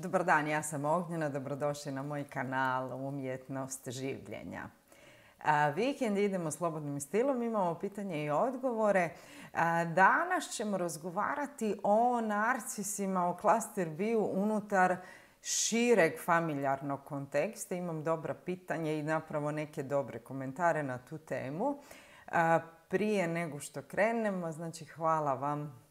Dobar dan, ja sam Ognjena, dobrodošli na moj kanal Umjetnost življenja. Vikend idemo slobodnim stilom, imamo pitanje i odgovore. Danas ćemo razgovarati o narcisima, o cluster view unutar šireg familijarnog konteksta. Imam dobra pitanja i napravo neke dobre komentare na tu temu. Prije nego što krenemo, znači hvala vam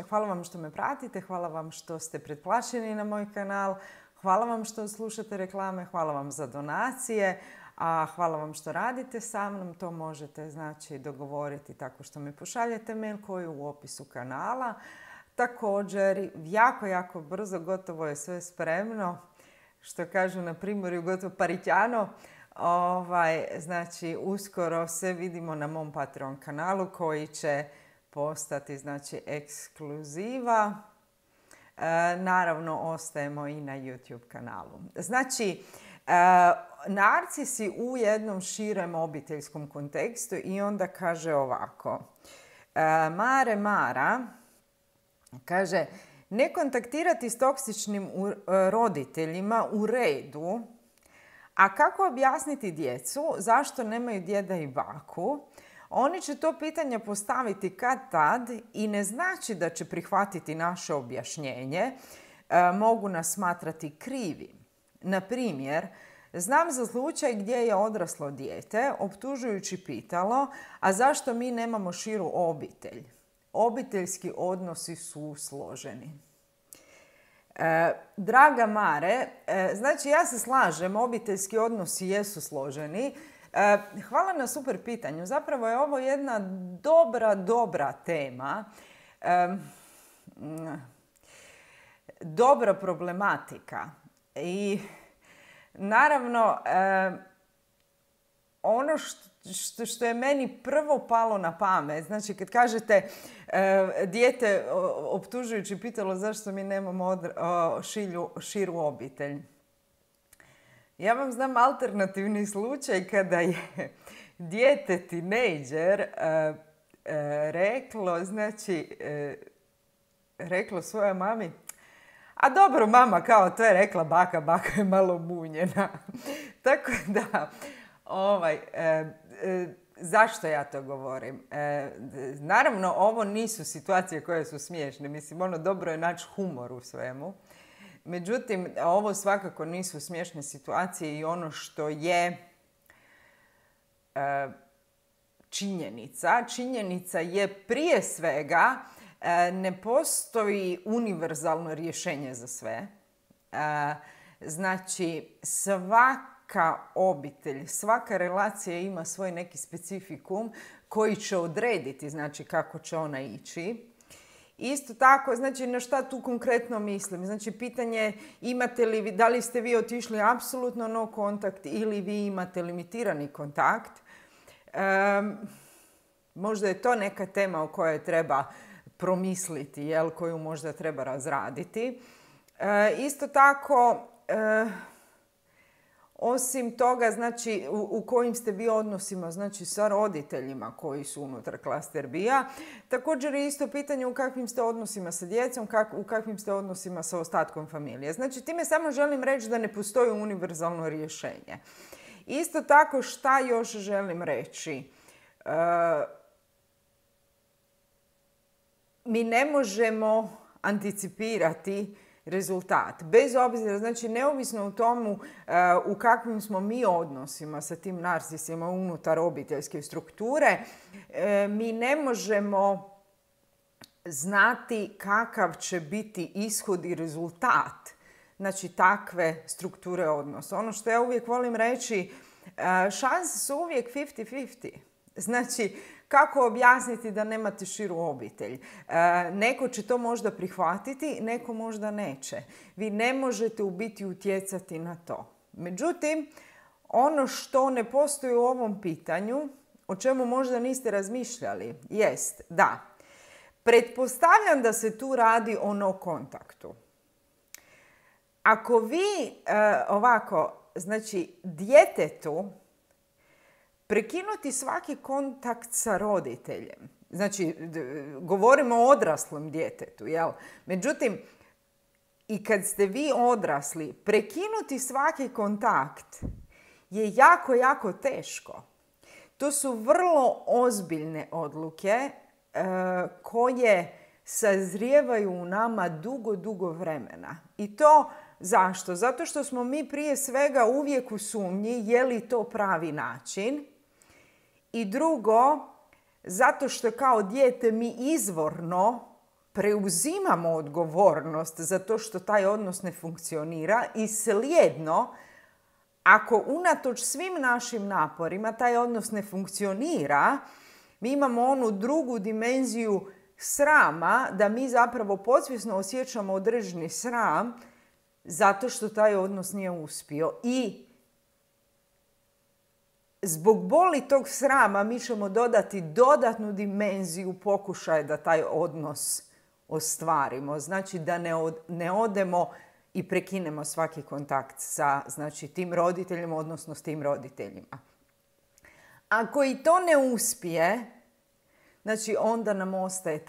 hvala vam što me pratite, hvala vam što ste pretplaćeni na moj kanal, hvala vam što slušate reklame, hvala vam za donacije, a hvala vam što radite sa mnom. To možete znači dogovoriti tako što mi pošaljete mail koji je u opisu kanala. Također, jako brzo, gotovo je sve spremno, što kažu na Primorju, gotovo parićano. Znači, uskoro se vidimo na mom Patreon kanalu koji će postati znači ekskluziva. Naravno, ostajemo i na YouTube kanalu. Znači, narcisi u jednom širem obiteljskom kontekstu i onda kaže ovako. Mara kaže, ne kontaktirati s toksičnim roditeljima u redu, a kako objasniti djecu zašto nemaju djeda i baku? Oni će to pitanje postaviti kad tad i ne znači da će prihvatiti naše objašnjenje. Mogu nas smatrati krivi. Na primjer, znam za slučaj gdje je odraslo dijete optužujući pitalo, a zašto mi nemamo širu obitelj? Obiteljski odnosi su složeni. Draga Mare, znači ja se slažem, obiteljski odnosi jesu složeni. Hvala na super pitanju. Zapravo je ovo jedna dobra tema. Dobra problematika. I naravno, ono što je meni prvo palo na pamet, znači kad kažete dijete optužujući pitalo zašto mi nemamo širu obitelj. Ja vam znam alternativni slučaj kada je dijete tinejdžer reklo svojoj mami, a dobro mama, kao to je rekla baka je malo munjena. Tako da, zašto ja to govorim? Naravno, ovo nisu situacije koje su smiješne. Mislim, dobro je naći humor u svemu. Međutim, ovo svakako nisu smiješne situacije i ono što je činjenica je prije svega ne postoji univerzalno rješenje za sve. Znači, svaka obitelj, svaka relacija ima svoj neki specifikum koji će odrediti znači, kako će ona ići. Isto tako, znači na šta tu konkretno mislim? Znači pitanje imate li, da li ste vi otišli apsolutno no kontakt ili vi imate limitirani kontakt. Možda je to neka tema o kojoj treba promisliti, koju možda treba razraditi. Isto tako, osim toga, znači, u kojim ste vi odnosima, znači, sa roditeljima koji su unutar cluster B-a. Također je isto pitanje u kakvim ste odnosima sa djecom, u kakvim ste odnosima sa ostatkom familije. Znači, time samo želim reći da ne postoji univerzalno rješenje. Isto tako, šta još želim reći? Mi ne možemo anticipirati rezultat. Bez obzira, znači neovisno o tomu u kakvim smo mi odnosima sa tim narcisima unutar obiteljske strukture, mi ne možemo znati kakav će biti ishod i rezultat znači takve strukture odnosa. Ono što ja uvijek volim reći, šanse su uvijek 50-50. Znači, kako objasniti da nemate širu obitelj? Neko će to možda prihvatiti, neko možda neće. Vi ne možete u biti utjecati na to. Međutim, ono što ne postoji u ovom pitanju, o čemu možda niste razmišljali, jest da pretpostavljam da se tu radi o no kontaktu. Ako vi znači djetetu prekinuti svaki kontakt sa roditeljem, znači govorimo o odraslom djetetu, jel? Međutim, I kad ste vi odrasli, prekinuti svaki kontakt je jako, jako teško. To su vrlo ozbiljne odluke koje sazrijevaju u nama dugo, dugo vremena. I to zašto? Zato što smo mi prije svega uvijek u sumnji je li to pravi način. I drugo, zato što kao dijete mi izvorno preuzimamo odgovornost za to što taj odnos ne funkcionira i slijedno, ako unatoč svim našim naporima taj odnos ne funkcionira, mi imamo onu drugu dimenziju srama, da mi zapravo podsvjesno osjećamo određeni sram zato što taj odnos nije uspio. I zbog boli tog srama mi ćemo dodati dodatnu dimenziju pokušaja da taj odnos ostvarimo. Znači da ne odemo i prekinemo svaki kontakt sa tim roditeljima, odnosno s tim roditeljima. Ako i to ne uspije, znači onda nam ostaje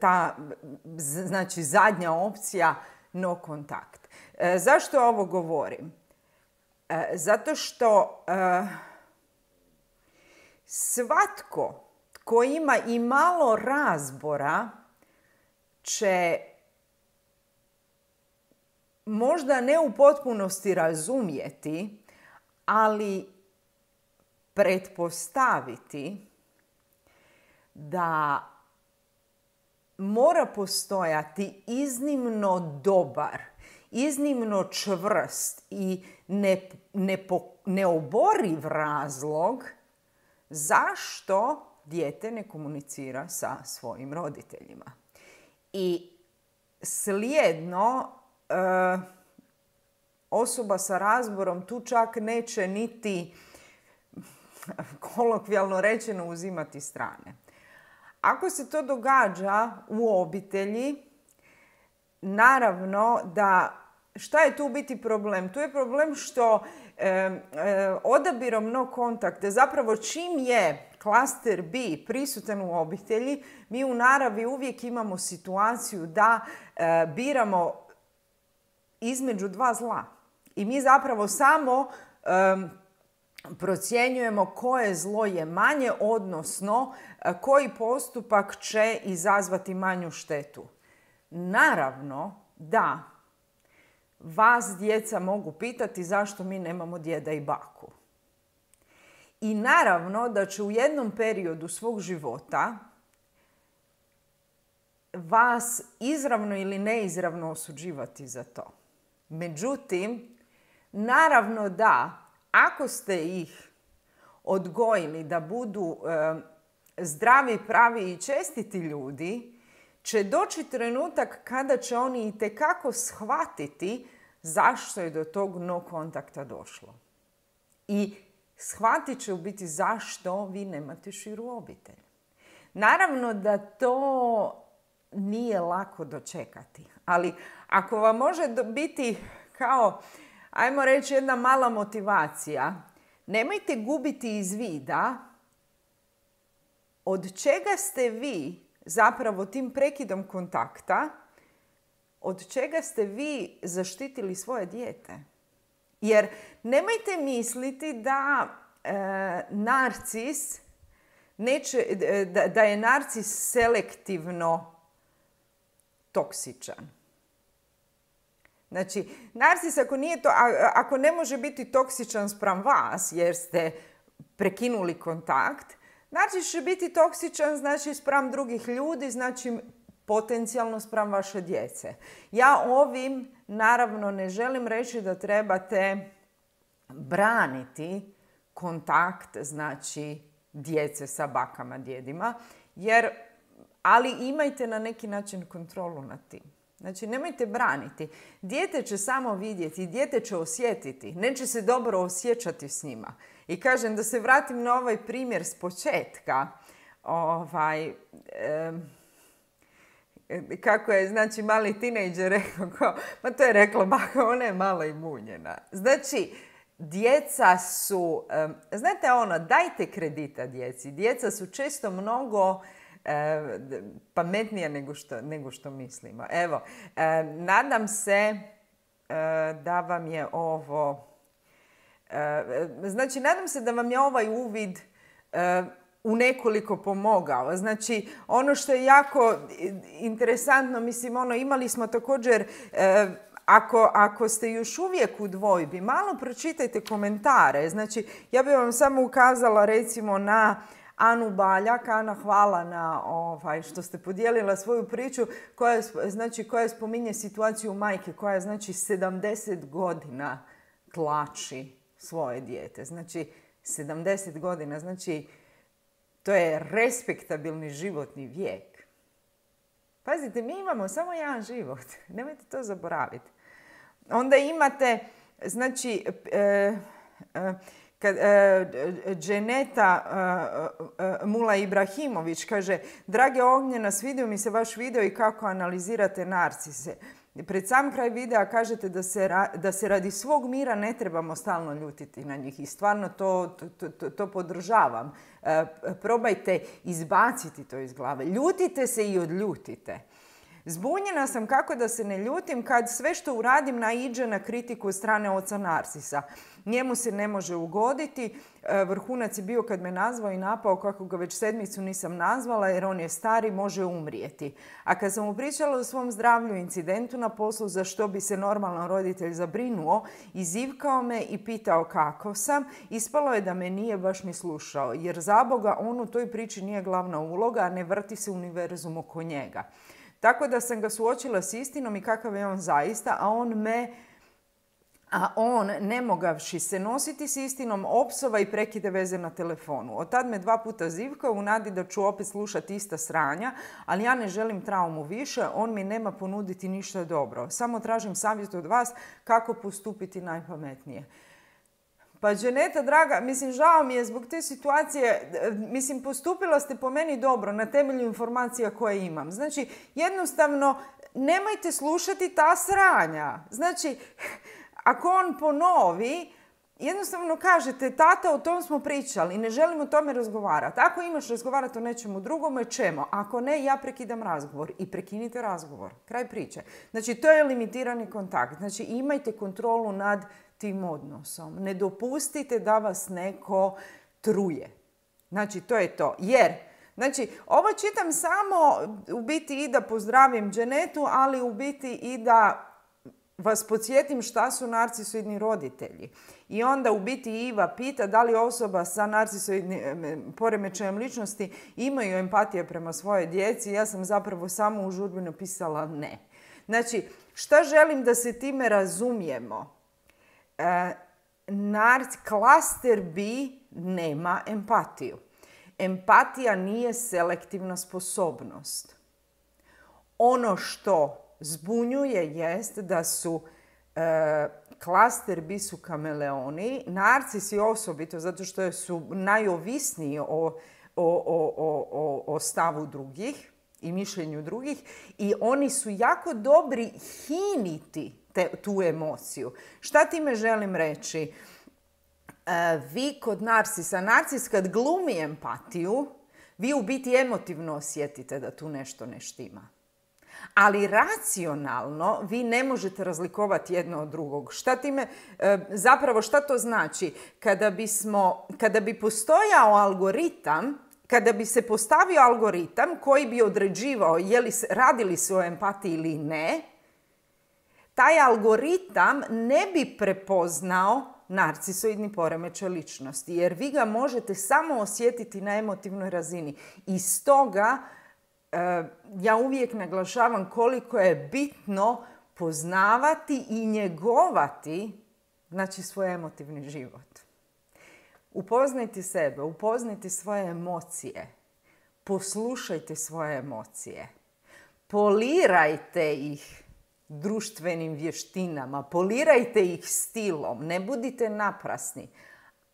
ta zadnja opcija no kontakt. Zašto ovo govorim? Zato što svatko tko ima i malo razbora će možda ne u potpunosti razumjeti, ali pretpostaviti da mora postojati iznimno dobar, iznimno čvrst i neoboriv razlog zašto dijete ne komunicira sa svojim roditeljima. I slijedno osoba sa razborom tu čak neće niti kolokvijalno rečeno uzimati strane. Ako se to događa u obitelji, naravno da šta je tu u biti problem? Tu je problem što odabirom no kontakta, zapravo čim je klaster B prisutan u obitelji, mi u naravi uvijek imamo situaciju da biramo između dva zla. I mi zapravo samo procjenjujemo koje zlo je manje, odnosno koji postupak će izazvati manju štetu. Naravno da vas djeca mogu pitati zašto mi nemamo djeda i baku. I naravno da će u jednom periodu svog života vas izravno ili neizravno osuđivati za to. Međutim, naravno da ako ste ih odgojili da budu zdravi, pravi i čestiti ljudi, će doći trenutak kada će oni itekako shvatiti zašto je do tog no kontakta došlo. I shvatit će u biti zašto vi nemate širu obitelj. Naravno da to nije lako dočekati, ali ako vam može biti kao, ajmo reći, jedna mala motivacija, nemojte gubiti iz vida od čega ste vi zapravo tim prekidom kontakta, od čega ste vi zaštitili svoje dijete. Jer nemojte misliti da narcis da je narcis selektivno toksičan. Znači, narcis ako ne može biti toksičan spram vas jer ste prekinuli kontakt, narcis će biti toksičan znači spram drugih ljudi, znači potencijalno spram vaše djece. Ja ovim naravno ne želim reći da trebate braniti kontakt znači djece sa bakama, djedima, ali imajte na neki način kontrolu nad tim. Znači, nemojte braniti. Dijete će samo vidjeti, dijete će osjetiti, neće se dobro osjećati s njima. I kažem, da se vratim na ovaj primjer s početka, kako je, znači, mali tinejdžer rekao, ma to je rekla baka, ona je malo i munjena. Znači, djeca su, znate dajte kredita djeci. Djeca su često mnogo pametnije nego što mislimo. Evo, nadam se da vam je ovo... Znači, nadam se da vam je ovaj uvid u nekoliko pomogao. Znači, ono što je jako interesantno, mislim, imali smo također, ako ste još uvijek u dvojbi, malo pročitajte komentare. Znači, ja bih vam samo ukazala recimo na Anu Baljak. Ana, hvala na što ste podijelila svoju priču koja spominje situaciju majke koja 70 godina tlači svoje dijete. Znači, 70 godina, znači, to je respektabilni životni vijek. Pazite, mi imamo samo jedan život. Nemojte to zaboraviti. Onda imate, znači, Dženeta Mula Ibrahimović kaže: Drage Ognjena, svidio mi se vaš video i kako analizirate narcise. Pred sam kraj videa kažete da se radi svog mira ne trebamo stalno ljutiti na njih i stvarno to podržavam. Probajte izbaciti to iz glave. Ljutite se i odljutite. Zbunjena sam kako da se ne ljutim kad sve što uradim naiđe na kritiku od strane oca Narcisa. Njemu se ne može ugoditi. Vrhunac je bio kad me nazvao i napao kako ga već 7 nisam nazvala jer on je stari, može umrijeti. A kad sam mu pričala o svom zdravlju i incidentu na poslu za što bi se normalan roditelj zabrinuo, izivkao me i pitao kako sam, ispalo je da me nije baš ni slušao jer zaboga on u toj priči nije glavna uloga, a ne vrti se univerzum oko njega. Tako da sam ga suočila s istinom i kakav je on zaista, a on, ne mogavši se nositi s istinom, opsova i prekide veze na telefonu. Od tad me 2 puta zivkao u nadi da ću opet slušati ista sranja, ali ja ne želim traumu više, on mi nema ponuditi ništa dobro. Samo tražim savjet od vas kako postupiti najpametnije. Pa Dženeta, draga, mislim, žao mi je zbog te situacije, mislim, postupila ste po meni dobro na temelju informacija koje imam. Znači, jednostavno, nemojte slušati ta sranja. Znači, ako on ponovi, jednostavno kažete: tata, o tom smo pričali, ne želim o tome razgovarati. Ako imaš razgovarati o nečemu drugome, ćemo. Ako ne, ja prekidam razgovor. I prekinite razgovor. Kraj priče. Znači, to je limitirani kontakt. Znači, imajte kontrolu nad tim odnosom. Ne dopustite da vas neko truje. Znači, to je to. Jer, znači, ovo čitam samo u biti i da pozdravim Dženetu, ali u biti i da vas podsjetim šta su narcisoidni roditelji. I onda u biti Iva pita da li osoba sa narcisoidnim poremećajem ličnosti imaju empatije prema svojoj djeci. Ja sam zapravo samo u žurbi napisala ne. Znači, šta želim da se time razumijemo? Klaster B nema empatiju. Empatija nije selektivna sposobnost. Ono što zbunjuje jest da su klaster B su kameleoni, narcisi osobito zato što su najovisniji o stavu drugih i mišljenju drugih i oni su jako dobri hiniti tu emociju. Šta time želim reći? Vi kod narcisa, narcis kad glumi empatiju, vi u biti emotivno osjetite da tu nešto ne štima. Ali racionalno vi ne možete razlikovati jedno od drugog. Zapravo šta to znači? Kada bi postojao algoritam, kada bi se postavio algoritam koji bi određivao radi li se o empatiji ili ne, taj algoritam ne bi prepoznao narcisoidni poremećaj ličnosti, jer vi ga možete samo osjetiti na emotivnoj razini. I stoga ja uvijek naglašavam koliko je bitno poznavati i njegovati, znači, svoj emotivni život. Upoznajte sebe, upoznajte svoje emocije, poslušajte svoje emocije, polirajte ih društvenim vještinama, polirajte ih stilom, ne budite naprasni,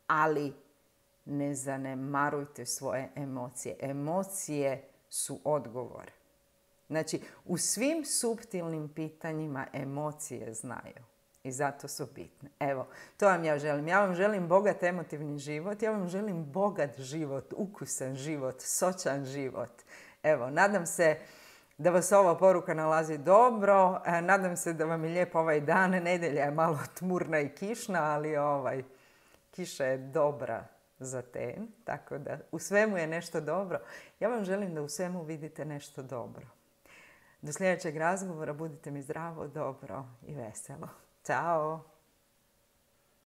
ali ne zanemarujte svoje emocije. Emocije su odgovor. Znači, u svim suptilnim pitanjima emocije znaju i zato su bitne. Evo, to vam ja želim. Ja vam želim bogat emotivni život, ja vam želim bogat život, ukusan život, sočan život. Evo, nadam se da vas ova poruka nalazi dobro. Nadam se da vam je lijep ovaj dan. Nedjelja je malo tmurna i kišna, ali kiša je dobra za ten. Tako da u svemu je nešto dobro. Ja vam želim da u svemu vidite nešto dobro. Do sljedećeg razgovora budite mi zdravo, dobro i veselo. Ćao!